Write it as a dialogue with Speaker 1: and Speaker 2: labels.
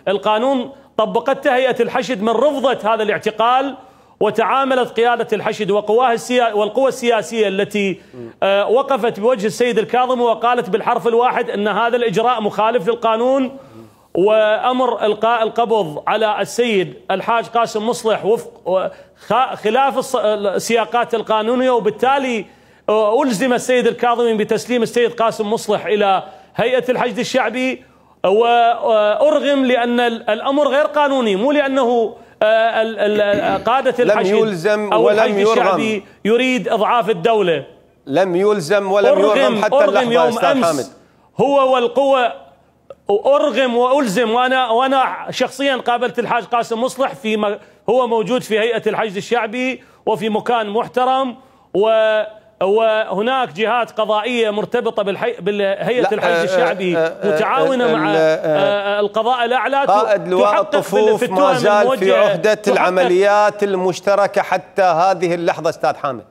Speaker 1: القانون طبقته هيئة الحشد من رفضة هذا الاعتقال، وتعاملت قيادة الحشد والقوى السياسية التي وقفت بوجه السيد الكاظمي وقالت بالحرف الواحد أن هذا الإجراء مخالف للقانون، وأمر إلقاء القبض على السيد الحاج قاسم مصلح وفق خلاف السياقات القانونية، وبالتالي ألزم السيد الكاظمي بتسليم السيد قاسم مصلح إلى هيئة الحشد الشعبي، وأرغم لأن الأمر غير قانوني، مو لأنه قادة الحشد أو الحشد الشعبي يريد إضعاف الدولة.
Speaker 2: لم يلزم ولم يرغم حتى اللحظة أستاذ حامد.
Speaker 1: هو والقوة أرغم وألزم، وأنا شخصيا قابلت الحاج قاسم مصلح هو موجود في هيئة الحشد الشعبي وفي مكان محترم، وهناك جهات قضائية مرتبطة بهيئة الحشد الشعبي متعاونة مع القضاء الأعلى.
Speaker 2: قائد لواء الطفوف ما زال في عهدة العمليات المشتركة حتى هذه اللحظة أستاذ حامد.